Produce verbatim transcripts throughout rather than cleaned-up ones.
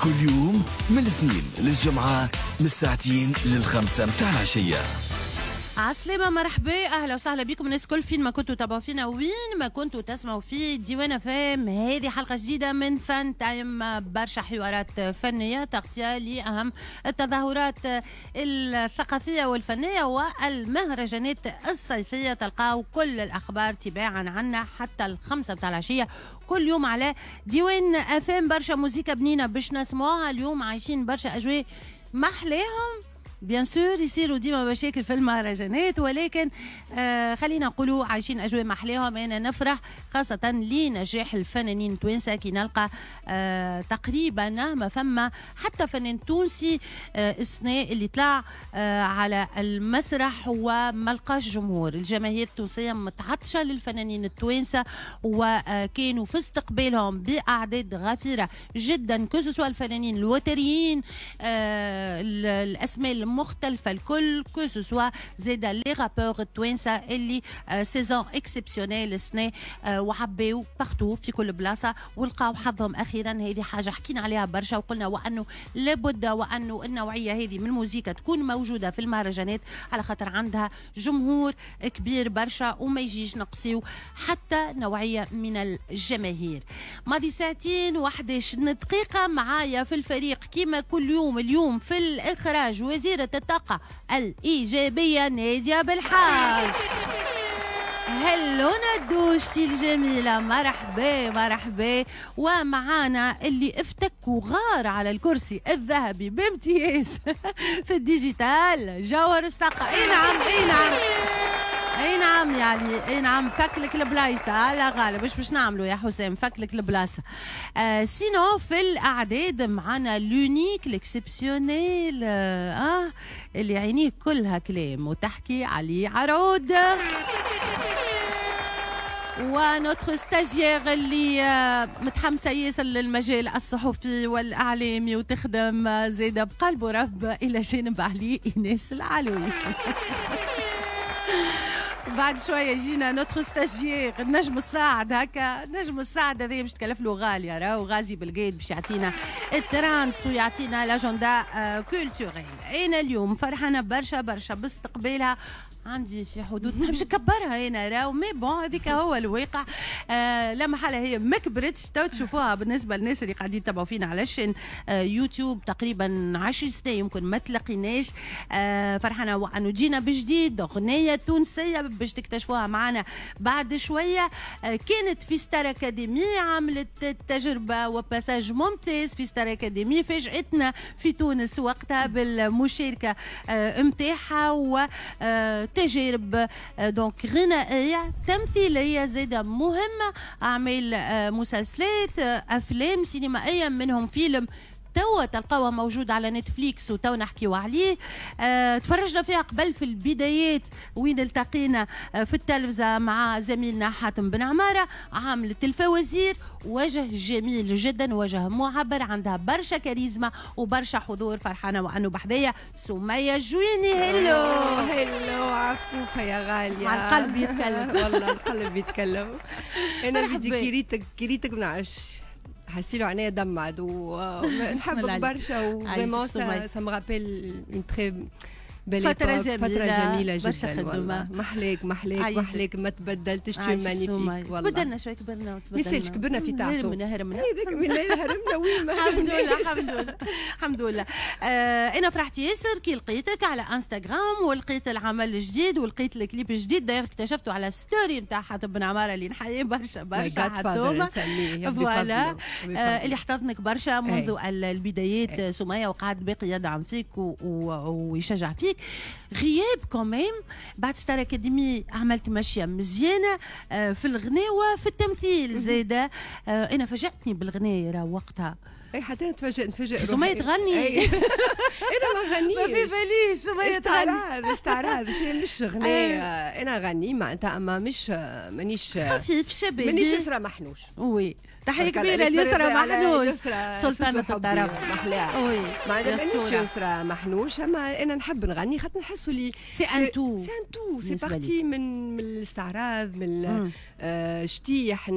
كل يوم من الاثنين للجمعة من الساعتين للخمسة متاع العشية. عسلامة، مرحبا، اهلا وسهلا بكم الناس الكل فين ما كنتوا تابعوا فينا، وين ما كنتوا تسمعوا في ديوان FM. هذه حلقة جديدة من فن تايم، برشا حوارات فنية، تغطية لأهم التظاهرات الثقافية والفنية والمهرجانات الصيفية. تلقاو كل الأخبار تباعا عنا حتى الخمسة بتاع العشية كل يوم على ديوان FM. برشا موزيكا بنينة باش نسمعوها اليوم، عايشين برشا أجواء محلاهم. bien sûr يصيروا ديما مشاكل في المهرجانات، ولكن آه خلينا نقولوا عايشين اجواء محلاهم. انا نفرح خاصة لنجاح الفنانين التوانسة كي نلقى آه تقريبا ما فما حتى فنان تونسي آه السنة اللي طلع آه على المسرح وما لقاش جمهور. الجماهير التونسية متعطشه للفنانين التوانسة وكانوا في استقبالهم باعداد غفيره جدا، que ce soit الفنانين الوتريين، آه الاسماء المختلفة الكل، que ce soit زاد les rappeurs التوانسة اللي saison exceptionnelle السنة وعباو partout في كل بلاصة ولقاو حظهم اخيرا. هذه حاجة حكينا عليها برشا وقلنا وانه لابد وانه النوعية هذه من الموسيقى تكون موجودة في المهرجانات على خاطر عندها جمهور كبير برشا وما يجيش نقصيو حتى نوعية من الجماهير. ماضي ساعتين وحداش دقيقه، معايا في الفريق كيما كل يوم، اليوم في الاخراج وزيره الطاقة الإيجابية نادية بالحاج. hello ندوشتي الجميلة، مرحبا مرحبا. ومعانا اللي افتك وغار على الكرسي الذهبي بامتياز في ال digital، جوهر السقا. اي نعم اي نعم اي نعم، يعني اي نعم، فك لك البلايصه على غالب. باش باش نعملوا يا حسام؟ فك لك البلاصه. آه sinon في الاعداد معنا l'unique، l'exceptionnel، آه, آه اللي عينيه كلها كلام وتحكي عليه عرود، و notre stagiaire اللي آه، متحمسة ياسر للمجال الصحفي والاعلامي وتخدم زاده بقلب ورب الى جانب علي، ايناس العلوي. بعد شوية جينا notre stagiaire النجم الصاعد، هكا نجم الصاعد هذا باش تكلف له غالية راهو، غازي بالقايد، باش يعطينا ال trends ويعطينا l'agenda culturel. انا اليوم فرحانة برشا برشا باستقبالها، عندي في حدود ما نحبش نكبرها انا راهو، mais bon هذيك هو الواقع. آه لا محالة هي ما كبرتش، تو تشوفوها. بالنسبة للناس اللي قاعدين يتبعوا فينا على ال chaîne آه يوتيوب، تقريبا عشر سنين يمكن ما تلاقيناش. آه فرحانة وانه جينا بجديد، اغنية تونسية باش تكتشفوها معنا بعد شويه. آه كانت في ستار اكاديمي، عملت تجربه و passage ممتاز في ستار اكاديمي، فاجأتنا في تونس وقتها بالمشاركة نتاعها آه وتجارب donc غنائيه، تمثيلية زاده مهمه، اعمال آه، مسلسلات، آه، افلام سينمائيه، منهم فيلم توا تلقاوها موجود على نتفليكس وتو نحكيو عليه. أه تفرجنا فيها قبل في البدايات وين التقينا آه، في التلفزة مع زميلنا حاتم بن عمارة. عاملة الفوازير، وجه جميل جدا، وجه معبر، عندها برشا كاريزما وبرشا حضور. فرحانة وأنه بحذايا سمية الجويني. hello. hello عفوفة يا غالية. القلب يتكلم. والله القلب يتكلم. أنا بدي كيريتك كيريتك ما نعرفش حسيلو عينيا دمعت ونحبك برشا و vraiment ça me rappelle une très فترة جميلة. فترة جميلة جدا والله. محلاك محلاك محلاك، ما تبدلتش، tu es magnifique والله. تبدلنا شوي، كبرنا. ما يسالش، كبرنا في تعتو. هرمنا هرمنا. هذاك من هرمنا وين ما الحمد لله الحمد لله الحمد لله. آه انا فرحت ياسر كي لقيتك على انستغرام ولقيت العمل الجديد ولقيت الكليب الجديد. d'ailleurs اكتشفته على story نتاع حاتم بن عمارة اللي نحييه برشا برشا، حاتم voilà، آه اللي احتضنك برشا منذ البدايات سمية وقعد باقي يدعم فيك ويشجع فيك. غياب quand même بعد ستار اكاديمي، عملت ماشية مزيانه آه، في الغناء وفي التمثيل زاده. آه، انا فاجاتني بالغناء راه وقتها. اي حتى انا تفاجئ نتفاجئ. سمية تغني؟ انا ما غنيش. ما في باليش سمية تغني. استعراض استعراض، مش غناء. انا غني معناتها اما مش مانيش خفيف شبابي. مانيش يسرى محنوش. oui. تحية كبيرة ليسرى محنوش، سلطانه الطرب. محلاها. oui، معناتها مانيش يسرى محنوش، اما انا نحب نغني خاطر نحسوا اللي c'est un tout. c'est un tout، c'est partie من من الاستعراض، من الشتيح.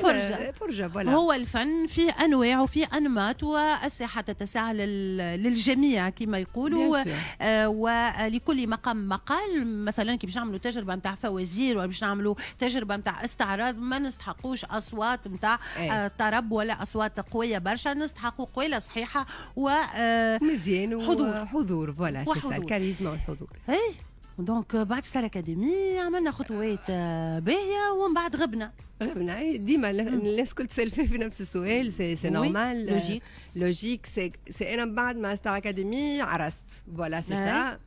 فرجه. فرجه، voilà. هو الفن فيه انواع وفيه انماط، والساحه تتسع للجميع كما يقولوا، آه ولكل مقام مقال. مثلا كي باش نعملوا تجربه نتاع فوازير ولا باش نعملوا تجربه نتاع استعراض، ما نستحقوش اصوات نتاع آه طرب ولا اصوات قوية برشا، نستحقوا قويله صحيحه و آه مزيان. حضور. حضور، voilà، c'est الكاريزما والحضور. اي، donc بعد ستار اكاديمي عملنا خطوات باهيه ومن بعد غبنا. غبنا. ديما الناس كل تسال في نفس السؤال، c'est c'est normal. logique. logique. c'est c'est انا بعد ما ستار اكاديمي عرست، voilà، c'est ça،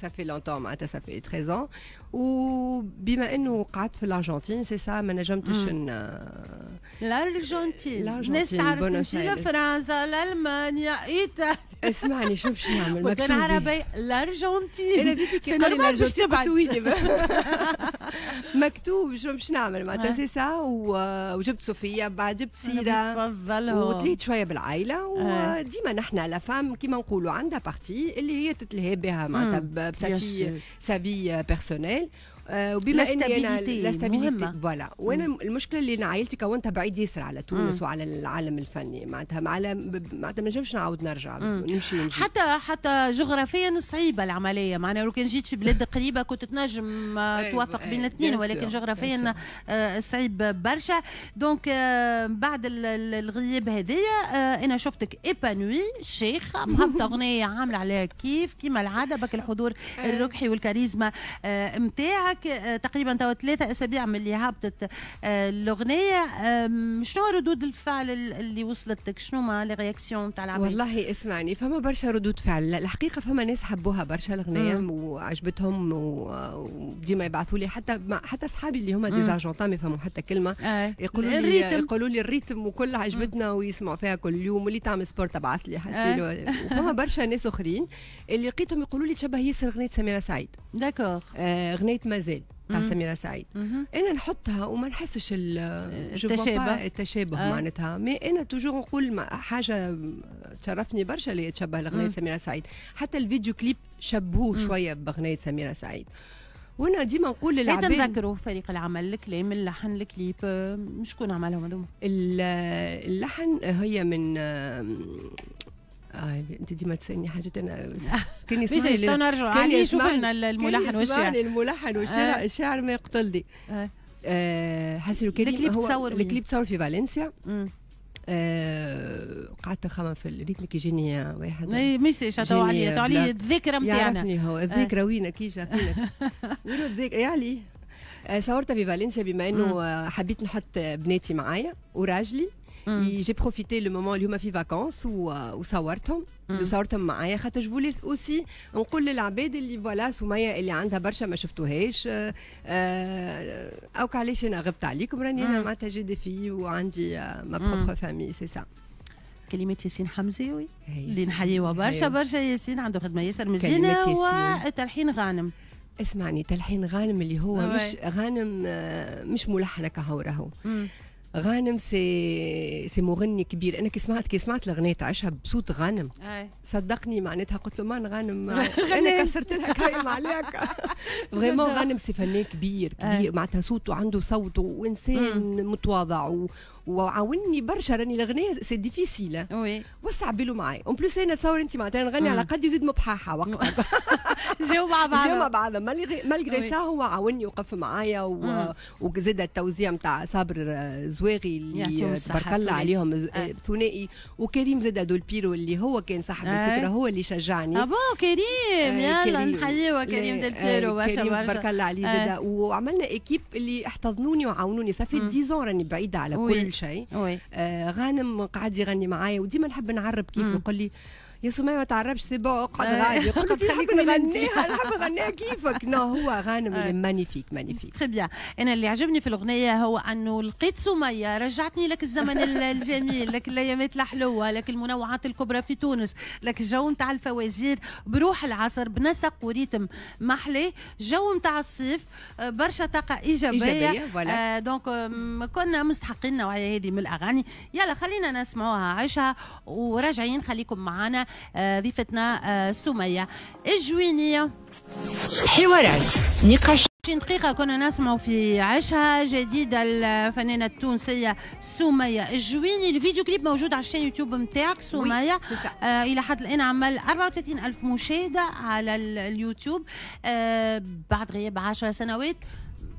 ça fait longtemps، معناتها ça fait treize ans. وبما انه قعدت في الارجنتين، c'est ça، ما نجمتش. الارجنتين، الناس تعرف تمشي لفرنسا، لالمانيا، ايطاليا. اسمعني، شوف شو نعمل. مكتوب عربي الارجنتين. انا c'est normal باش تبعد. مكتوب، شو باش نعمل؟ معناتها c'est ça. وجبت صوفيا، بعد جبت سيره. تفضل. وتليت شوية بالعائله. وديما نحن la femme كيما نقولوا عندها partie اللي هي تتلهي بها، معناتها ب sa vie sa vie personnelle. وبما اني انا la stabilité، voilà. وانا المشكلة اللي انا عائلتي كونتها بعيد ياسر على تونس وعلى العالم الفني، معناتها معناتها ما نجمش نعاود نرجع نمشي ونجي. حتى حتى جغرافيا صعيبة العمليه، معناها لو كان جيت في بلاد قريبه كنت تنجم توافق بين الاثنين، ولكن جغرافيا صعيب برشا. donc بعد الغياب هذيا انا شفتك épanouie، شيخه مهبطه اغنية عامله عليها كيف كيما العاده، بك الحضور الركحي والكاريزما نتاعك. تقريبا توا ثلاثة اسابيع من اللي هبطت الاغنيه، شنو ردود الفعل اللي وصلتك؟ شنو ما les réactions تاع العباد؟ والله اسمعني، فما برشا ردود فعل الحقيقه. فما ناس حبوها برشا الاغنية وعجبتهم، وديما يبعثوا لي، حتى حتى اصحابي اللي هما des Argentins ما يفهموا حتى كلمه، يقولوا لي يقولوا لي ال rythme وكل عجبتنا ويسمعوا فيها كل يوم، واللي تعمل sport تبعث لي حسيلو. وفما برشا ناس اخرين اللي لقيتهم يقولوا لي تشبه ياسر اغنية سميرة سعيد. d'accord. اغنية مازال تاع سميرة سعيد. انا نحطها وما نحسش التشابه. التشابه آه. معناتها mais انا toujours نقول حاجة تشرفني برشا اللي تشبه لاغنية سميرة سعيد. حتى الفيديو كليب شبهوه شوية باغنية سميرة سعيد. وانا ديما نقول للعباد نذكروا فريق العمل، الكلام، اللحن، الكليب، شكون عملهم هذوما؟ اللحن هي من آه انت ديما تسالني حاجات انا كان يسمعني. نرجعوا علي، شوف لنا الملحن والشاعر. الملحن والشاعر، آه. الشاعر ما يقتلني. آه. آه حسن كريم. الكليب تصور؟ الكليب تصور في فالنسيا. آه قعدت نخمم في ال rythme كي يجيني واحد. اي message تو علي تو علي الذكرى نتاعنا. يعرفني هو. الذكرى وينك؟ كي جا فينك؟ وين الذكرى يا علي؟ آه صورتها في فالنسيا بما انه حبيت نحط بناتي معايا وراجلي. j'ai profité le moment اللي هما في vacances وصورتهم وصورتهم معايا، خاطر je voulais aussi نقول للعباد اللي voilà سميه اللي عندها برشا ما شفتوهاش، او علاش انا غبت عليكم، راني انا معناتها j'ai des filles وعندي ma propre famille، c'est ça. كلمات ياسين حمزاوي اللي نحييوه برشا برشا. ياسين عنده خدمة ياسر مزيانه. وتلحين غانم. اسمعني، تلحين غانم اللي هو مش غانم مش ملحن كهو، راهو غانم c'est c'est مغني كبير. انا كي سمعت كي سمعت الاغنية تعيشها بصوت غانم، أي. صدقني معناتها قلت له مان غانم، انا كسرت لها كايم عليك. vraiment غانم c'est فنان كبير كبير، معناتها صوته، عنده صوت، وانسان متواضع و... وعاوني برشا. راني الاغنية c'est difficile. oui. وسع بالو معي. en plus انا تصور انت معناتها نغني على قد يزيد مبحاحه وقتها. جاو مع بعض. جاو مع بعض. malgré ça هو عاوني وقف معايا، و... وزاد التوزيع نتاع صابر زواغي اللي تبارك الله عليهم آه. ثنائي، وكريم زاد دول بيرو اللي هو كان صاحب الفكره، هو اللي شجعني. ah bon، كريم، يلا نحييه كريم دول بيرو برشا برشا، بارك الله عليه زاد. وعملنا équipe اللي احتضنوني وعاونوني. ça fait dix ans راني بعيدة على كل شيء. آه غانم قعد يغني معايا، وديما نحب نعرب كيف يقول لي يا سمية ما تعرفش، c'est bon، اقعد غادي. قلت نحب نغنيها، نحب نغنيها كيفك. non، هو غانم magnifique magnifique. très bien. انا اللي عجبني في الاغنية هو انه لقيت سميه رجعتني لك الزمن الجميل، لك الايامات الحلوه، لك المنوعات الكبرى في تونس، لك الجو نتاع الفوازير بروح العصر، بنسق و rythme محلي، جو نتاع الصيف، برشا طاقة ايجابيه. ايجابيه. آه donc كنا مستحقين النوعية هذه من الاغاني. يلا خلينا نسمعوها عيشها وراجعين، خليكم معنا. آه ضيفتنا آه سميه الجوينيه. حوارات، نقاش. عشرين دقيقة كنا نسمع في عشها، جديد الفنانة التونسية سمية الجويني. الفيديو كليب موجود على ال chaîne YouTube نتاعك سمية. آه إلى حد الآن عمل أربعة وثلاثين ألف مشاهدة على اليوتيوب. آه بعد غياب عشر سنوات،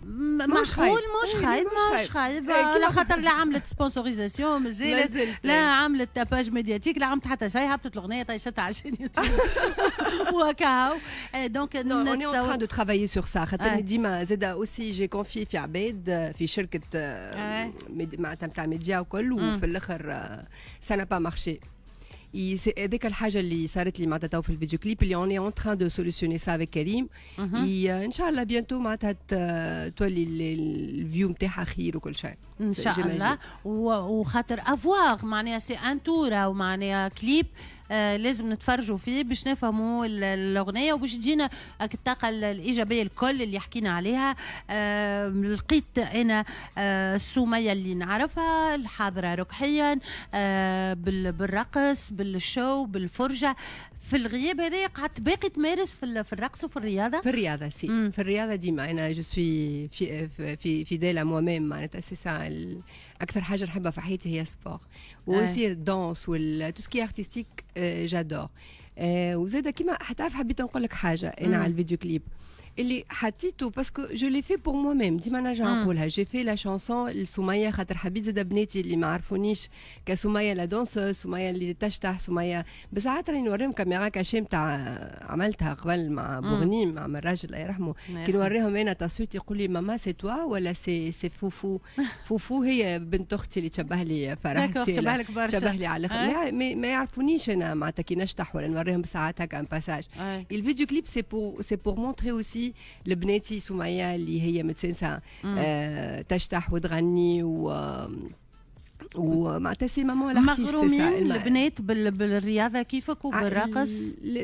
معقول، مش خايب، مش خايب، لا خاطر لا عملت sponsorisation مازالت، لا عملت tapage médiatique، لا عملت حتى شيء، هبطت الاغنيه، طيشتها على يوتيوب وكاو. donc on est en train de travailler sur ça، خاطر ديما زاد aussi j'ai confié في عباد في شركة معناتها نتاع ميديا وكل، وفي الاخر ça n'a pas marché. هذيك الحاجة اللي صارت لي معناتها تو في الفيديو كليب اللي on est en train de solutionner ça avec كريم. ان شاء الله bientôt معناتها تولي ال vues نتاعها خير وكل شيء. ان شاء الله. وخاطر à voir، معناها c'est un tour ومعناها كليب آه لازم نتفرجوا فيه باش نفهموا الاغنية وباش تجينا الطاقة الايجابية الكل اللي حكينا عليها. آه لقيت انا آه سميه اللي نعرفها، الحاضرة ركحيا، آه بالرقص، بال show، بالفرجه. في الغياب هذا قعدت باقي تمارس في في الرقص وفي الرياضه؟ في الرياضه، si. مم. في الرياضة ديما انا je suis في في fidèle à moi-même، معناتها c'est ça. اكثر حاجة نحبها في حياتي هي sport و aussi danse وال tout ce qui est artistique، j'adore. وزاد كيما حتعرف، حبيت نقول لك حاجة انا على الفيديو كليب اللي حطيته، parce que je l'ai fait pour moi-même. ديما نرجع نقولها، j'ai fait la chanson لسميه، خاطر حبيت زاد بناتي اللي ما عرفونيش كسميه la danseuse، سميه اللي تشطح، سميه. بساعات راني نوريهم caméra cachée نتاع عملتها قبل مع بوغنيم، مع الراجل الله يرحمه. كي نوريهم انا تصويت يقول لي ماما c'est toi ولا c'est c'est فوفو؟ فوفو هي بنت اختي اللي تشبه لي فرح. تشبه لك برشا. تشبه لي على الاخر. ما, ما يعرفونيش انا معناتها كي نشطح ولا نوريهم ساعات هكا un passage. الفيديو كليب c'est pour c'est pour montrer aussi لبناتي سمية اللي هي متسنسة آه تشطح وتغني و ومعناتها c'est maman. مغرومين البنات بالرياضة كيفك وبالرقص؟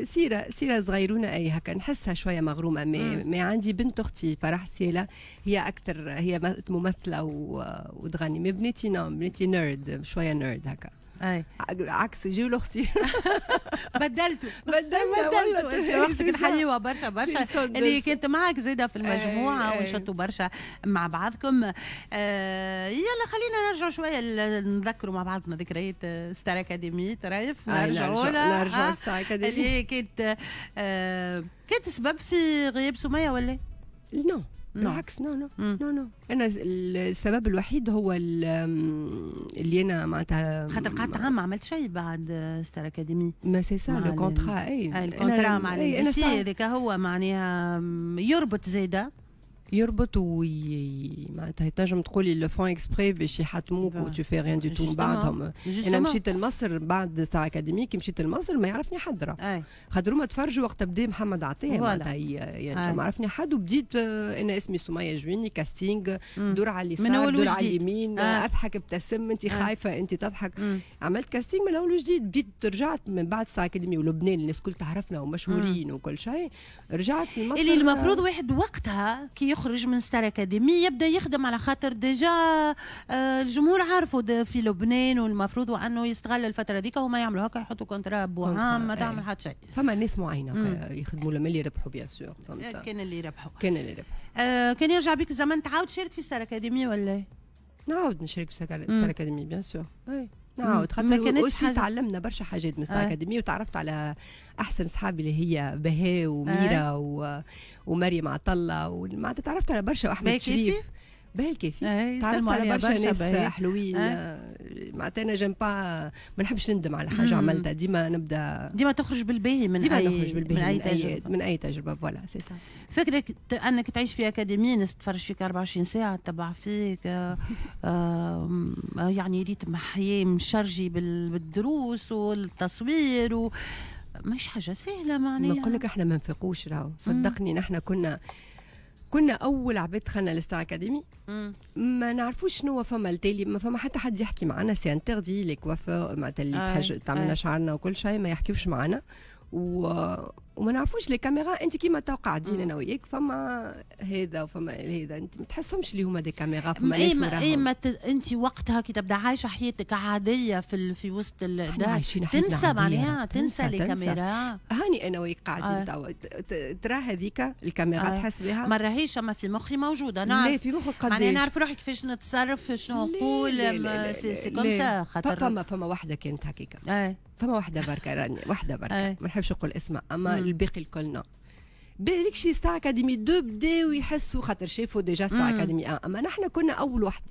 سيره سيره صغيرونه، اي هكا نحسها شوية مغرومه. mais, mais عندي بنت اختي فرح سيله هي اكثر، هي ممثلة وتغني. mais بناتي non، بناتي nerd، شوية nerd هكا. اي عكس جيو لاختي. بدلتوا. بدلنا. بدلتوا. اختك نحيوها برشا برشا، اللي كانت معك زاده في المجموعة ونشطوا برشا مع بعضكم. آه يلا خلينا نرجعوا شويه، نذكروا مع بعضنا ذكريات ستار اكاديمي ترايف. نرجعوا نرجعوا ستار اكاديمي. اللي هي كانت آه كانت سبب في غياب سميه ولا؟ non، بالعكس، non non non non، انا السبب الوحيد هو اللي انا معناتها خاطر قعدت عام ما عملت شيء بعد ستار اكاديمي. mais c'est ça le contrat، اي ال contrat مع ال سي هذاك هو معناها يربط زاده. يربط وي معناتها تنجم تقولي le font exprès باش يحطموك و tu fais rien du tout. بعدهم انا مشيت لمصر بعد ستار اكاديمي. كي مشيت لمصر ما يعرفني حد راه، خاطر هما تفرجوا وقت بدا محمد عطية معناتها، يعني ما عرفني حد. وبديت انا اسمي سميه جويني، casting، دور على اليسار، دور على اليمين، آه. اضحك، ابتسم، انت خايفه، انت تضحك. مم. عملت casting من الاول وجديد. بديت رجعت من بعد ستار اكاديمي ولبنان الناس الكل تعرفنا ومشهورين وكل شيء، رجعت لمصر. اللي المفروض واحد وقتها كي يخرج من ستار اكاديمي يبدا يخدم، على خاطر déjà آه، الجمهور عارفه في لبنان، والمفروض انه يستغل الفترة ديك. هما يعملوا هكا، يحطوا contrat بوعام، ما تعمل حتى شيء. فما ناس معينة يخدموا لما اللي يربحوا bien sûr. كان اللي يربحوا. كان اللي يربحوا. آه كان يرجع بك الزمن تعاود تشارك في ستار اكاديمي ولا؟ نعاود نشارك في ستار اكاديمي bien sûr، نعاود، خاطر aussi تعلمنا برشا حاجات من ستار اكاديمي، وتعرفت على احسن صحابي اللي هي بهاء وميرا آه. و... ومريم عطله، ومعناتها تعرفت على برشا، واحمد شريف. باهي الكافي، تعرفت على برشا ناس حلوين. معناتها انا j'aime pas، ما نحبش نندم على حاجة عملتها، ديما نبدا ديما تخرج بالباهي من ديما اي نخرج بالباهي من اي من اي تجربه من اي تجربه، voilà c'est ça. فكرة انك تعيش في اكاديميه، ناس تتفرج فيك أربعة وعشرين ساعه، تتبع فيك، آه، آه، يعني rythme حياة مشرجي بالدروس والتصوير و مش حاجة سهلة معناها. نقول لك احنا ما نفقوش راهو، صدقني نحن كنا كنا اول عباد دخلنا لستار اكاديمي، ما نعرفوش شنو فما التالي، ما فما حتى حد يحكي معنا، c'est interdit، les coiffeurs معناتها اللي تحج تعملنا شعرنا وكل شيء ما يحكيوش معنا و... وما نعرفوش les caméras. انت كيما تو قاعدين انا وياك، فما هذا وفما هذا، انت ما تحسهمش اللي هما des caméras، فما ناس وراهم. اي ما ت... انت وقتها كي تبدا عايشه حياتك عادية في في وسط الدار تنسى معناها، تنسى les caméras. هاني انا وياك قاعدين توا، ترى هذيك الكاميرا آه. تحس بها؟ ما راهيش، اما في مخي موجوده. نعرف لا، في مخك قداش معناها نعرف روحي كيفاش نتصرف، شنو نقول، c'est c'est comme ça. خاطر فما فما واحدة كانت هكاكا، فما واحدة بركة راني، واحدة بركه، ما نحبش نقول اسمها، اما الباقي الكل non. بالك شي ستار اكاديمي deux بداو يحسوا خاطر شافوا déjà ستار اكاديمي واحد، اما نحن كنا اول واحد.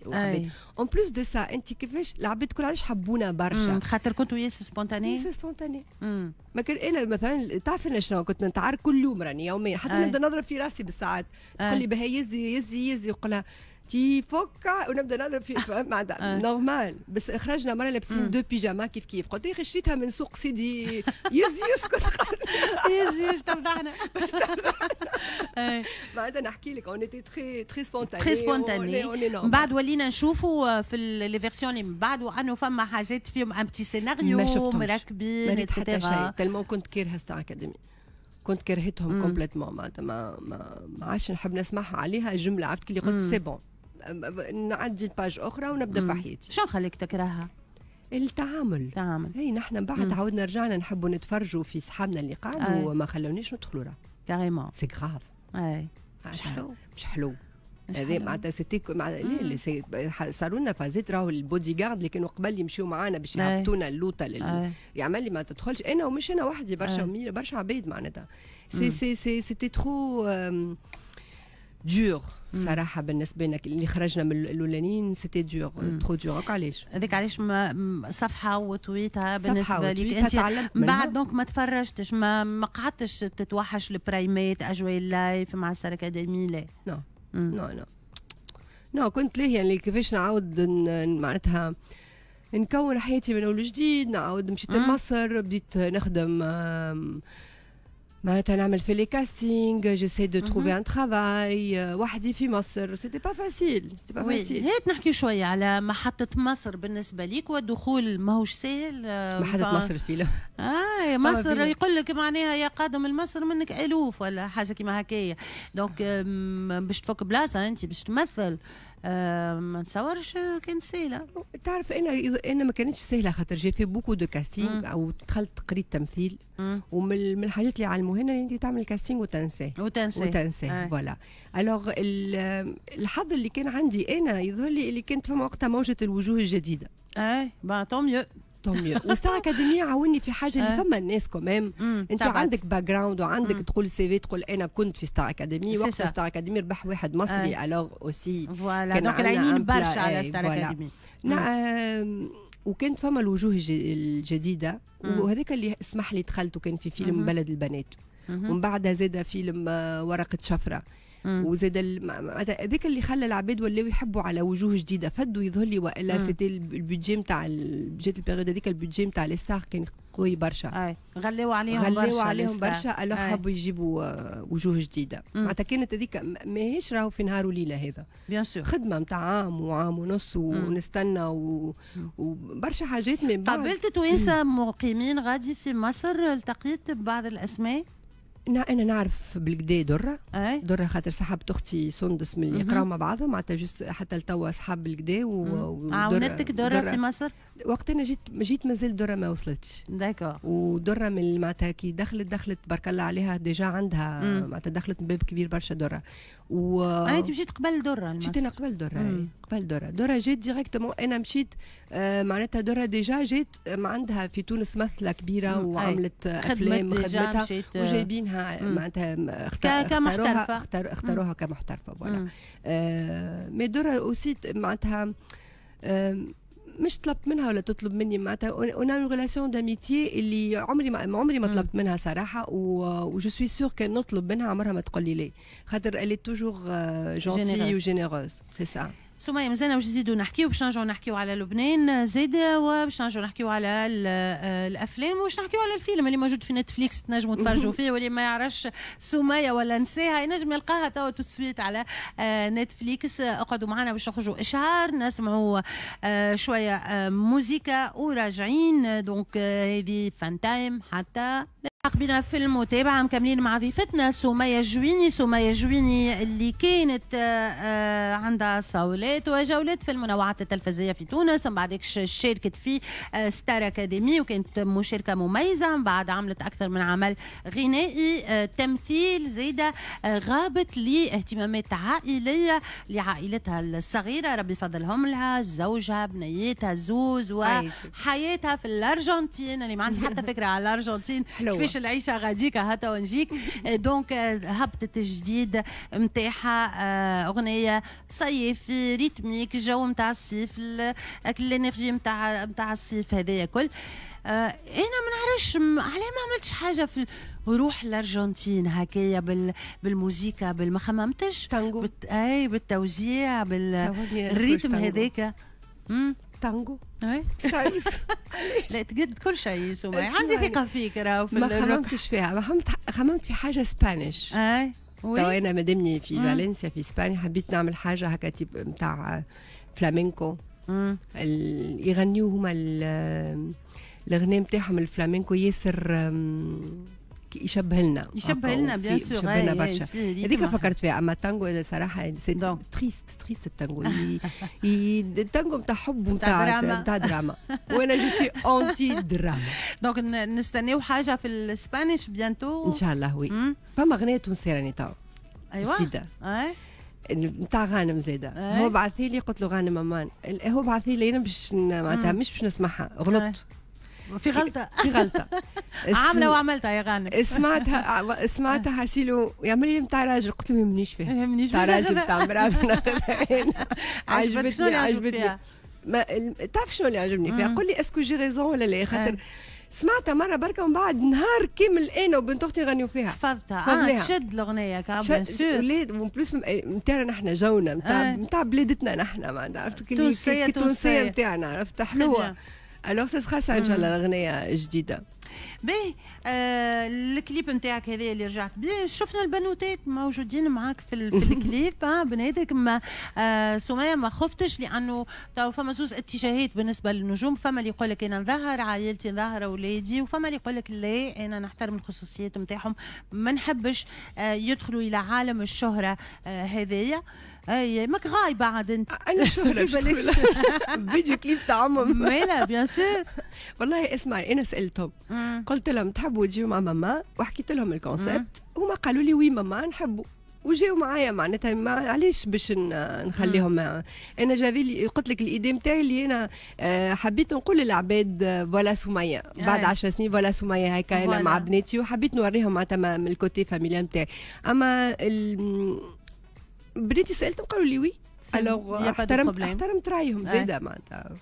en plus de ça انت كيفاش العباد كل علاش حبونا برشا؟ خاطر كنتوا ياسر spontanés. ياسر spontanés. ما كان انا مثلا تعرف انا شنو كنت نتعارك كل يوم، راني يوميا حتى نبدا نضرب في راسي بالساعات، تقول لي بها يزي يزي يزي، يقول تي فوكا ونبدا نضرب في معناتها normal. بس خرجنا مرة لابسين deux pyjamas كيف كيف، قلت لي شريتها من سوق سيدي، يزي يسكت. يزي باش تفضحنا. معناتها نحكي لك on était très très spontanés. très spontanés. من بعد ولينا نشوفوا في les versions اللي من بعد انه فما حاجات فيهم un petit scénario مركبين. حتى شيء، tellement كنت كارهه ستار اكاديمي، كنت كرهتهم complètement، معناتها ما ما ما عادش نحب نسمعها عليها جمله. عرفت كي قلت c'est bon، نعدي page اخرى ونبدا في حياتي. شو خليك تكرهها؟ التعامل. التعامل. هي نحن بعد عاودنا رجعنا نحبوا نتفرجوا في صحابنا اللي قعدوا وما خلونيش ندخلوا راه. carrément. c'est grave. اي. مش حلو، مش حلو هذا. معناتها c'était مع لا، صاروا لنا فازات راهو، البودي جارد اللي كانوا قبل يمشيو معانا باش يهبطونا اللوطه لل... يعمل لي ما تدخلش، انا ومش انا وحدي، برشا برشا عباد. معناتها c'est c'est c'est c'était trop dur صراحة بالنسبة لنا اللي خرجنا من الاولانيين، c'était dur، trop dur. علاش؟ هذيك علاش صفحة وطويتها بالنسبة لك انت بعد، donc ما تفرجتش، ما ما قعدتش تتوحش البرايمات، اجواء ال live مع ستار اكاديمي؟ لا؟ non non non non، كنت ليه يعني كيفاش نعاود معناتها نكون حياتي من اول جديد، نعاود مشيت لمصر، بديت نخدم، معناتها نعمل في les castings، j'essaie de trouver un travail وحدي في مصر، c'était pas facile، c'était pas facile. هات نحكي شوية على محطة مصر بالنسبة ليك، والدخول ماهوش سهل. محطة مصر الفيلم. اه مصر يقول لك معناها يا قادم المصر منك الوف ولا حاجة كيما هكايا، donc باش تفك بلاصة انت باش تمثل آه ما نتصورش كانت سهله. تعرف انا انا ما كانتش سهله، خاطر j'ai fait beaucoup de castings او دخلت قريت تمثيل، ومن الحاجات اللي علموها لنا انت تعمل casting وتنساه. وتنساه. وتنساه، voilà. alors الحظ اللي كان عندي انا يظهر لي اللي كانت فما وقتها موجه الوجوه الجديده. اي bah tant mieux. tant mieux. وستار اكاديمي عاوني في حاجه، اللي فما الناس quand même انت عندك background وعندك تقول CV، تقول انا كنت في ستار اكاديمي. وقت ستار اكاديمي ربح واحد مصري، alors aussi voilà، donc العينين برشا على ستار اكاديمي. نعم، وكانت فما الوجوه الجديده، وهذاك اللي اسمح لي دخلت، وكان في فيلم بلد البنات، ومن بعدها زاد فيلم ورقة شفره، وزاد هذاك اللي خلى العباد ولاو يحبوا على وجوه جديده، فدوا يظهر لي، والا c'était ال budget نتاع جات ال période هذيك، ال budget نتاع les stars كان قوي برشا. اي، غليو عليهم. غليو برشا عليهم برشا، alors حبوا يجيبوا آه، وجوه جديده. معناتها كانت هذيك ماهيش راهو في نهار وليلة هذا. bien sûr. خدمة نتاع عام وعام ونص ونستنى و... وبرشا حاجات من بعد. قابلت توانسة مقيمين غادي في مصر؟ التقيت ببعض الاسماء؟ انا نعرف بالقدا دره. أي؟ دره خاطر صاحبة اختي سندس من اللي يقراو مع بعضهم، معناتها juste حتى لتوا اصحاب بالقدا. و... عاونتك دره, دره في مصر؟ وقت انا جيت جيت مازال دره ما وصلتش. d'accord. ودره من معناتها كي دخلت دخلت بارك الله عليها، déjà عندها معناتها دخلت من باب كبير برشا دره. و انت مشيت قبل دره؟ مشيت انا قبل دره، قبل دره. دره جات directement، انا مشيت آه معناتها دره déjà جات ما عندها في تونس مثله كبيرة وعملت افلام خدمتها وجايبينها. منها معناتها اختاروها اختار اختاروها كمحترفه voilà. آه mais درة aussi معناتها آه مش طلبت منها ولا تطلب مني، معناتها on a une relation d'amitié اللي عمري ما عمري ما طلبت منها صراحه، و je suis sûre كان نطلب منها عمرها ما تقول لي لا، خاطر elle est toujours gentille و généreuse، c'est ça. سمية، مازلنا باش نزيدو نحكيو، باش نرجعو نحكيو على لبنان زيد، وباش نرجعو نحكيو على الافلام، وباش نحكيو على الفيلم اللي موجود في نتفليكس تنجموا تفرجوا فيه، واللي ما يعرفش سمية ولا نساها ينجم يلقاها توا tout de suite على نتفليكس. اقعدوا معنا باش نخرجوا اشهار، نسمعوا شوية موزيكا وراجعين. donc هذه فان تايم حتى بنا في المتابعة، مكملين مع ضيفتنا سمية جويني. سمية جويني اللي كانت عندها صولات وجولات في المنوعات التلفزية في تونس، من بعد شاركت في ستار أكاديمي وكانت مشاركة مميزة، من بعد عملت أكثر من عمل غنائي، تمثيل، زيادة غابت لاهتمامات عائلية لعائلتها الصغيرة، ربي فضلهم لها، زوجها، بنيتها زوز، وحياتها في الأرجنتين اللي ما عندي حتى فكرة على الأرجنتين كيفاش العيشة غاديكا هتا ونجيك. donc هبطت الجديد نتاعها، اغنية صيفي rythmique، الجو نتاع الصيف، l'énergie نتاع نتاع الصيف هذايا كل. انا ما نعرفش علاه ما عملتش حاجة في روح الارجنتين هكايا بال بالموزيكا، بالما خممتش تانجو بت... اي بالتوزيع بال rythme هذاك. تانجو اي صيف. لا تقد كل شيء سمية، عندي ثقة فيك راهو. في ما خممتش فيها، ما خممت خممت في حاجة Spanish. اي تو انا مادامني في فالنسيا في اسبانيا حبيت نعمل حاجة هكا type نتاع فلامينكو، يغنيو هما الغناء نتاعهم الفلامينكو ياسر يشبه لنا، يشبه لنا bien sûr، يشبه لنا برشا. هذيك فكرت فيها. اما التانجو صراحة c'est triste triste التانجو، التانجو نتاع حب ونتاع نتاع دراما، وانا je suis anti drame. donc نستناو حاجة في ال Spanish bientôt ان شاء الله. oui، فما اغنية تونسية راني تو ايوا جديدة نتاع غانم زاده، هو بعث لي، قلت له غانم امان، هو بعث لي انا باش معناتها مش باش نسمعها، غلطت في غلطة في غلطة عاملة وعملتها يا غانم. سمعتها سمعتها حسيلو يعمل لي نتاع راجل، قلت له ما يهمنيش فيها، ما يهمنيش نتاع راجل نتاع مراة. عجبتني عجبتني ما تعرف شنو اللي عجبني فيها؟ قول لي est-ce que j'ai raison ولا لا، خاطر سمعتها مرة بركة ومن بعد نهار كامل انا وبنت اختي نغنيو فيها. حفظتها. اه تشد الاغنية bien sûr. ولاد و en plus نتاعنا نحن جونا نتاع نتاع بلادتنا نحن معناتها، عرفت تونسية التونسية نتاعنا، عرفت حلوة. alors ça sera ça ان شاء الله الاغنية جديدة. باهي، آه الكليب نتاعك هذا اللي رجعت بيه، شفنا البنوتات موجودين معاك في, في الكليب، آه بناتك. ما آه سمية ما خفتش؟ لانه تو فما زوز اتجاهات بالنسبة للنجوم، فما اللي يقول لك انا نظهر عائلتي، نظهر اولادي، وفما اللي يقول لك لا انا نحترم الخصوصيات نتاعهم، ما نحبش آه يدخلوا الى عالم الشهرة آه هذايا. اي ماك غايبة عاد انت. انا شهره فيديو كليب تاع امهم. مالا bien sûr. والله اسمعي، انا سالتهم قلت لهم تحبوا تجيو مع ماما، وحكيت لهم ال concept، هما قالوا لي oui ماما نحبوا، وجاو معايا. معناتها ما علاش باش نخليهم؟ انا j'avais قلت لك l'idée نتاعي اللي انا آه، حبيت نقول للعباد voilà سميه بعد عشر سنين، voilà سميه هكا انا مع بناتي، وحبيت نوريهم معناتها من ال côté familial نتاعي. اما بناتي سالتهم قالوا لي oui، alors احترمت احترمت رايهم زاده. معناتها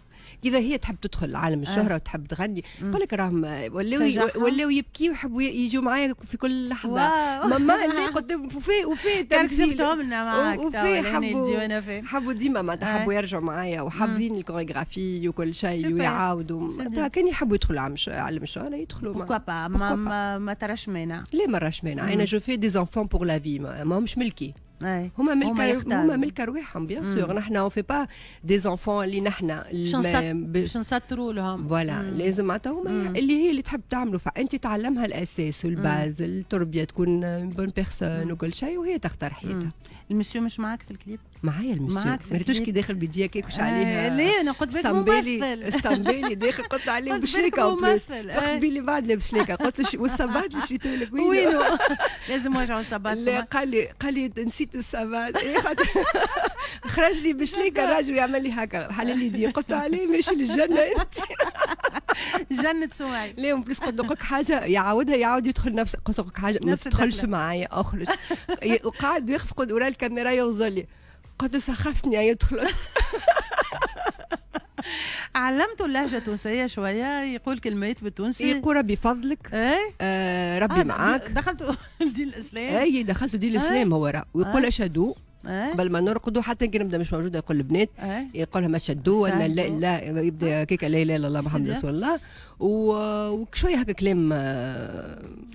اذا هي تحب تدخل عالم الشهرة وتحب تغني، نقول لك راهم ولاو ولاو يبكيو ويحبوا يجوا معايا في كل لحظه، ماما اللي قدام وفي وفي تمثيل لنا معاك وفي حبوا حبوا ديما معناتها حبوا يرجعوا معايا وحافظين الكوريغرافي وكل شيء ويعاودوا. معناتها كان يحبوا يدخلوا عالم الشهرة يدخلوا. pourquoi pas، ما, ما, ما تراش مانع؟ لا ما راش مانع. انا je fais des enfants pour la vie، ما همش ملكي، هما ملك هما ملك ارواحهم bien sûr. نحن on fait pas des enfants اللي نحن باش نسطروا لهم. voilà، لازم معناتها هما اللي هي اللي تحب تعملوا، فانت تعلمها الاساس وال base، التربيه، تكون bonne personne وكل شيء، وهي تختار حياتها. المسيو مش معاك في الكليب؟ معايا المسيو. معاك. ما ريتوش كي داخل بيديا كيكوش عليها. ليه؟ انا قلت بالك ممثل. اسطنبالي داخل، قلت عليه بشليكه، فقت بيلي بعد لابس شليكه، قلت له والصباط اللي شريته لك؟ وينو؟ لازم وجعوا الصباط. لا، قال لي قال لي نسيت الصباط. إيه، خرج لي بشليكه الراجل يعمل لي هكا، حلل لي دي، قلت له عليه ماشي للجنة انت. جنة سمية. لا en plus قلت لك حاجة يعاودها، يعاود يدخل نفس، قلت لك حاجة ما تدخلش معايا اخرج. وقعد واقف ورا الكاميرا يوصل لي، قلت له سخفتني يدخل. علمته اللهجة التونسية شوية، يقول كلمات بالتونسي، يقول ربي فضلك، ايه؟ آه ربي آه معاك. دخلته دين الاسلام. اي دخلته دين الاسلام هو راه، ويقول اشهدوا قبل ما نرقدوا، حتى كي نبدا مش موجودة يقول البنات يقول لهم اشهدوا ان لا لا، يبدا كيك لا اله الا الله محمد رسول الله، وشوية هكا كلام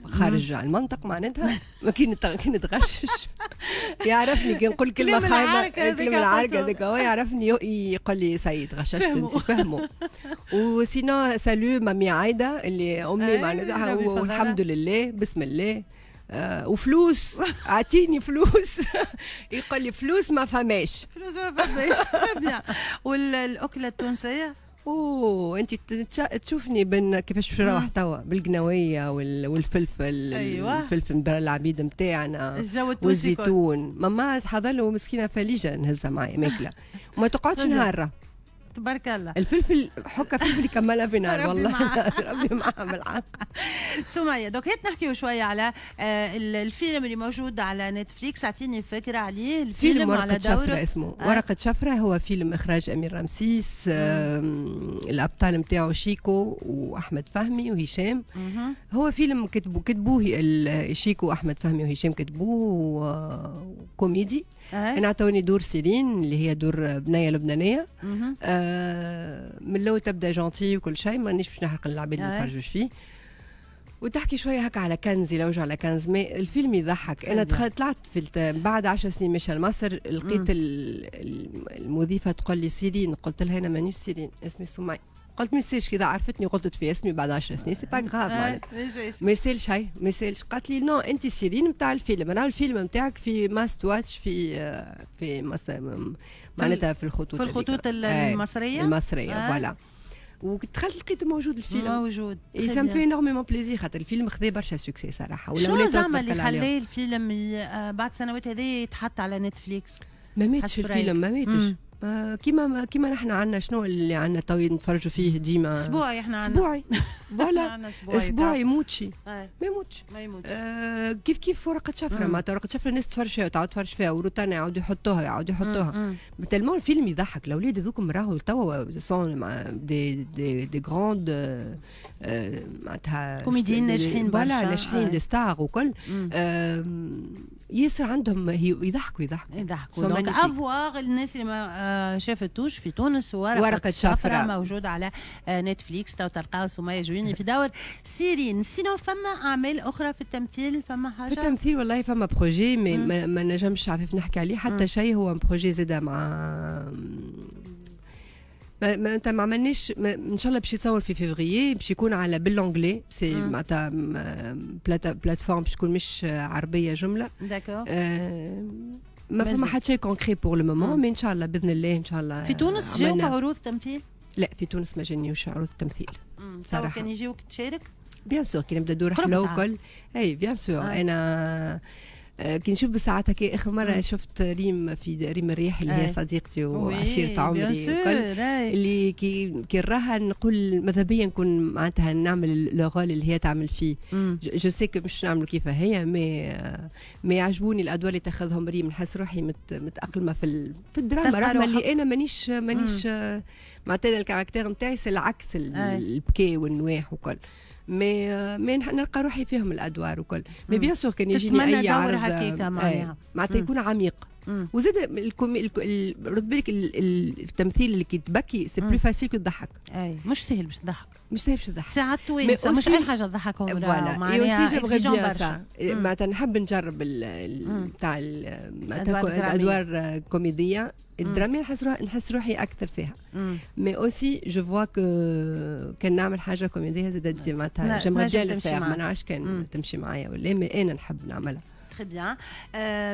خارج عن المنطق معناتها، ما كي نتغشش يعرفني كي نقول كلمة خايبة، كلمة العرق هذاك هو يعرفني، يقول لي سيد غششت انت، فهموا. و sinon salut mamie عايدة اللي امي معناتها، والحمد لله بسم الله. آه وفلوس، اعطيني فلوس. يقول لي فلوس ما فماش، فلوس ما فماش. bien. والاكله التونسية؟ اوه انت تشوفني بن كيفاش باش نروح توا بالقناويه والفلفل. أيوة. الفلفل العبيد نتاعنا والزيتون، ماما تحضر له مسكينه فليجه نهزها معايا ماكله وما تقعدش نهار. تبارك الله. الفلفل حكه فلفل يكملها في نار والله. ربي معاها بالحق. سمية donc هات نحكيو شوية على الفيلم اللي موجود على نتفليكس، اعطيني فكرة عليه الفيلم. فيلم ورقة شفرة اسمه. آه. ورقة شفرة هو فيلم اخراج امير رمسيس. آه الابطال نتاعو شيكو واحمد فهمي وهشام. مم. هو فيلم كتبوه كتبوه شيكو واحمد فهمي وهشام، كتبوه كوميدي. آه. انا عطوني دور سيرين اللي هي دور بنيه لبنانية. آه من الاول تبدا gentille وكل شيء، مانيش باش نحرق العباد اللي يتفرجوش فيه، وتحكي شوية هكا على كنز، يلوجوا على كنز. mais الفيلم يضحك. انا طلعت في الت... بعد عشر سنين مشى لمصر، لقيت المضيفة تقول لي سيرين، قلت لها انا مانيش سيرين، اسمي سمية. قلت ما يسالش، كذا عرفتني غلطت في اسمي بعد عشر سنين، c'est pas grave معناتها، ما يسالش، هاي ما يسالش. قالت لي non انت سيرين نتاع الفيلم، انا الفيلم نتاعك في must watch في في مصر معناتها في الخطوط في الخطوط المصرية المصرية voilà. ودخلت لقيته موجود الفيلم موجود. ça me fait énormément plaisir خاطر الفيلم خذا برشا succès صراحة. شنو زعما اللي خلاه الفيلم بعد سنوات هذه يتحط على نتفليكس؟ ما ماتش الفيلم، ما ماتش. كيما كيما نحن عندنا شنو اللي عندنا تو نتفرجوا فيه ديما اسبوعي، احنا عندنا اسبوعي voilà اسبوعي يموتش ما يموتش ما يموتش. آه كيف كيف ورقة شفرة، معناتها ورقة شفرة الناس تتفرج فيها وتعاود تتفرج فيها وروتانا يعاودوا يحطوها يعاودوا يحطوها. tellement الفيلم يضحك، الاولاد هذوكم راهو توا sont des des des grandes معناتها comédiens ناجحين برشا، voilà ناجحين des stars وكل. ياسر عندهم يضحكوا يضحكوا يضحكوا. donc à voir الناس اللي ما شافتوش في تونس ورقة, ورقة شفرة موجودة على نتفليكس، تو تلقاو سمية جويني في دور سيرين. sinon فما أعمال أخرى في التمثيل، فما حاجة؟ في التمثيل والله فما projet mais ما, ما نجمش عارف نحكي عليه حتى شيء. هو projet زاده مع ما, ما انت ما عملناش، ان شاء الله باش يتصور في فيفريي، باش يكون على بال anglais، c'est معناتها plateforme باش تكون مش عربية جملة. d'accord. آه ما فما حتى شيء concret pour le moment، mais ان شاء الله باذن الله ان شاء الله. في تونس جاوك عروض تمثيل؟ لا في تونس ما جانيوش عروض تمثيل صراحة. كان يجيوك تشارك؟ bien sûr كي نبدا دور حلو وكل، اي bien sûr. انا كي نشوف بساعتها كي اخر مرة شفت ريم في ريم الريح اللي هي صديقتي وعشيره عمري وكل، اللي كي كي نراها نقول ماذا بيا نكون معناتها نعمل le rôle اللي هي تعمل فيه. je sais que مش نعمل كيفها هي، mais mais يعجبوني الادوار اللي تاخذهم ريم، نحس روحي مت متاقلمه في في الدراما، رغم اللي انا مانيش مانيش معناتها ال caractère نتاعي c'est العكس، البكي والنواح وكل، mais mais نلقى روحي فيهم الادوار وكل. mais bien sûr كان يجيني اي عرض معناتها يكون عميق. وزاد الكومي رد بالك التمثيل اللي كي تبكي c'est plus facile que تضحك. اي مش سهل باش تضحك، مش سهل باش تضحك، ساعات توانسة مش اي حاجة تضحكهم، معناها برشا. معناتها نحب نجرب تاع الادوار كوميدية الدرامية، نحس روحي نحس روحي اكثر فيها. mais aussi je vois que كان نعمل حاجة كوميدية زاد معناتها j'aimerais bien le faire، ما نعرفش كان تمشي معايا ولا، mais انا نحب نعملها. très bien.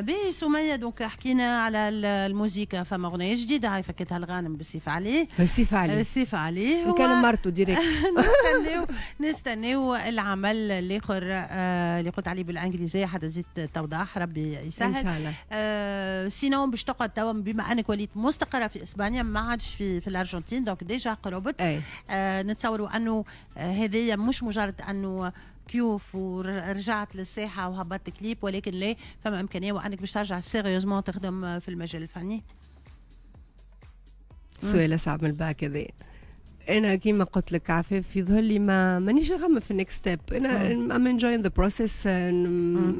باهي سميه، donc حكينا على الموزيكا، فما اغنية جديدة هاي فكتها الغانم بالسيف عليه. بالسيف عليه. بالسيف عليه. كان مرته direct. نستناو نستناو العمل الاخر اللي قلت عليه بالانجليزيه، حتى زيد توضح، ربي يسهل ان شاء الله. آه sinon باش تقعد توا، بما انك وليت مستقره في اسبانيا، ما عادش في في الارجنتين، donc déjà قربت. آه نتصوروا انه هذه مش مجرد انه كيوف ورجعت للساحه وهبطت كليب، ولكن لا، فما امكانية وانك باش ترجع sérieusement تخدم في المجال الفني؟ سؤال صعب من الباك هذا. انا كيما قلت لك عفاف، يظهر لي ما مانيش نخمم في ال next step. انا I'm enjoying the process.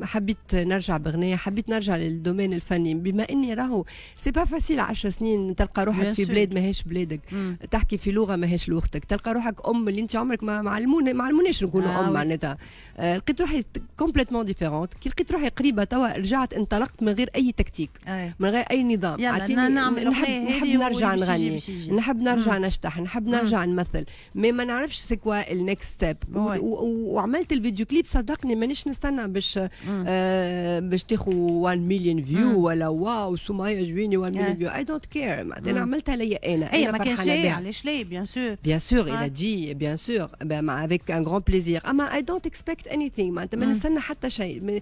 حبيت نرجع بغنية، حبيت نرجع لل domaine الفني، بما اني راهو c'est pas facile عشر سنين تلقى روحك في بلاد ماهيش بلادك، مم. تحكي في لغة ماهيش لغتك، تلقى روحك ام اللي انت عمرك ما معلمونا ما علموناش نكونوا آه ام معناتها. آه لقيت روحي complètement différente. كي لقيت روحي قريبه توا رجعت انطلقت من غير اي تكتيك، من غير اي نظام. اعطيني نحب نحب نرجع نغني، نحب نرجع نشطح، نحب نرجع نمثل، mais ما نعرفش c'est quoi ال next step. وعملت الفيديو كليب، صدقني مانيش نستنى باش آه باش تاخذ واحد مليون view ولا واو سمية جويني واحد مليون view. I don't care. انا عملتها ليا انا. اي ما كانش، علاش لا، bien sûr. bien sûr الى تجي، bien sûr avec un grand plaisir، اما I don't expect anything. معناتها ما نستنى حتى شيء.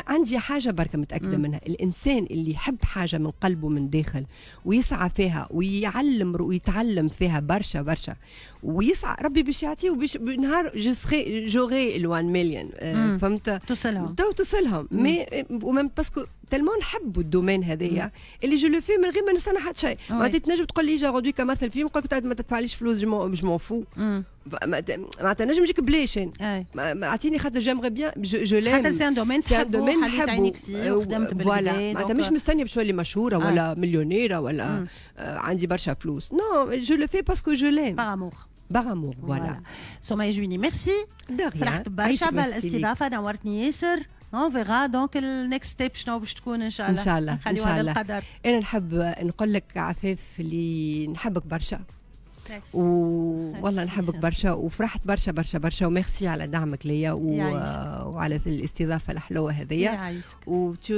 عندي حاجة بركة متاكدة منها، الانسان اللي يحب حاجة من قلبه من داخل ويسعى فيها ويعلم ويتعلم فيها برشا برشا ويسعى، ربي باش يعطيه، وباش نهار je serai j'aurai ال واحد مليون، فهمت؟ توصلهم. تو توصلهم، mais و même parce que tellement نحبوا ال domaine هذايا اللي je le fais من غير ما نستنى حتى شيء. معناتها تنجم تقول لي جا غدوي كمثل فيلم، نقول لك ما تدفعليش فلوس، je m'en fous. معناتها نجم نجيك بلاش، اعطيني خاطر j'aimerais bien، je l'aime. خاطر c'est un domaine. c'est un domaine نحبو فيه وخدمت. voilà، معناتها مش مستنيه باش نولي مشهورة ولا مليونيره ولا عندي برشا فلوس. non، je le fais parce que je l'aime. par amour. par amour، voilà. سمية جويني، ميرسي. فرحت برشا بالاستضافه، نورتني ياسر. on verra donc ال next step شنو باش تكون ان شاء الله. ان شاء الله. ان شاء الله القدر. انا نحب نقول لك عفاف اللي نحبك برشا، والله نحبك برشا، وفرحت برشا برشا برشا، وميرسي على دعمك ليا و... وعلى الاستضافة الحلوة هذيا، و tu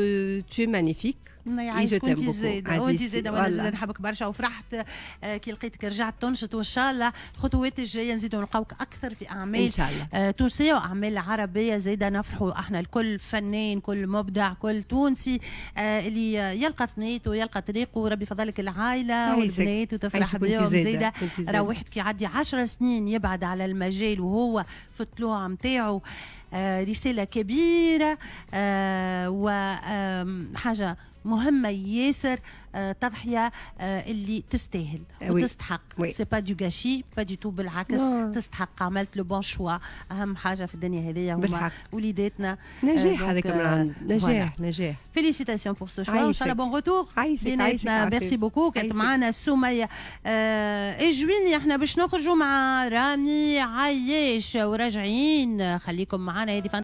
es magnifique. يعيشك، وانت زاده، وانت زاده، وانا زاده نحبك برشا، وفرحت آه، كي لقيتك رجعت تنشط، وان شاء الله الخطوات الجاية نزيدوا نلقاوك اكثر في اعمال ان شاء الله آه، تونسية واعمال عربية زاده. نفرحوا احنا الكل، فنان، كل مبدع، كل تونسي آه، اللي يلقى ثنيته ويلقى طريقه. وربي فضلك العائلة والبنات وتفرح بهم زاده. راه واحد كي يعدي عشر سنين يبعد على المجال وهو في الطلوع نتاعو، رسالة كبيرة وحاجه مهمة ياسر، آه، تضحية آه، اللي تستاهل وتستحق. c'est pas du gâchis، pas du tout، بالعكس تستحق. عملت le bon choix. اهم حاجة في الدنيا هذيا هما وليداتنا. نجاح هذاك من عند نجاح نجاح. félicitations pour ce choix، ان شاء الله bon retour. عايشك عايشك. merci beaucoup. كانت معنا سميه آه جويني. احنا باش نخرجوا مع رامي عياش وراجعين، خليكم معنا. هذه